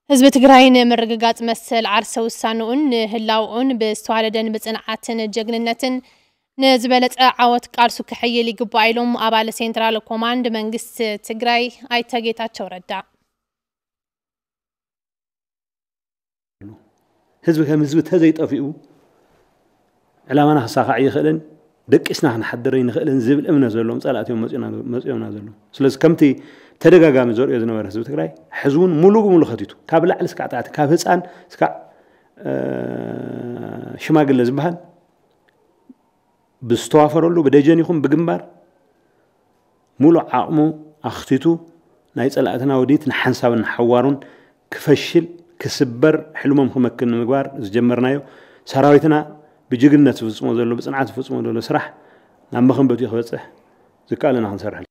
ህዝቢ ትግራይ ንምርግጋፅ መሰል ዓርሰ ውሳንኡን ንህላውኡን ብዝተዋደደን ብፅንዓትን ጀግንነትን ንዝበለፀ ዓወት ቃልሱ ክሕይል ይግባእ ኢሎም ኣባል ሴንትራል ኮማንድ መንግስቲ ትግራይ ኣይተ ጌታቸው ረዳ። ህዝቢ ከም ህዝቢ ተዘይጠፊኡ ዕላማና ክሳኻዕ ይኽእልን ደቂስና ክንሓድር ይንኽእልን ዝብል እምነት ዘለዎም ፀላእቲ እዮም መፂኦምና ዘለዉ። ስለዚ ከምቲ ተደጋጋሚ ዘርእዮ ዝነበረ ህዝቢ ትግራይ ሕዚ እውን ሙሉእ ብሙሉእ ከቲቱ ካብ ላዕሊ እስካዕ ታሕቲ ካብ ህፃን እስካዕ ሽማግለ ዝበሃል ብዝተዋፈረሉ ብደጀን ይኹን ብግንባር ሙሉእ ዓቕሙ ኣኽቲቱ ናይ ፀላእትና ውዲት ንሓንሳብን ንሓዋሩን ክፈሽል ክስበር ሕልሞም ክመክን ንምግባር ዝጀመርናዮ ሰራዊትና ብጅግንነት ዝፍፅሞ ዘሎ ብፅንዓት ዝፍፅሞ ዘሎ ስራሕ ናብ መኸንበቲኡ ክበፅሕ ዝከኣለና ክንሰርሕ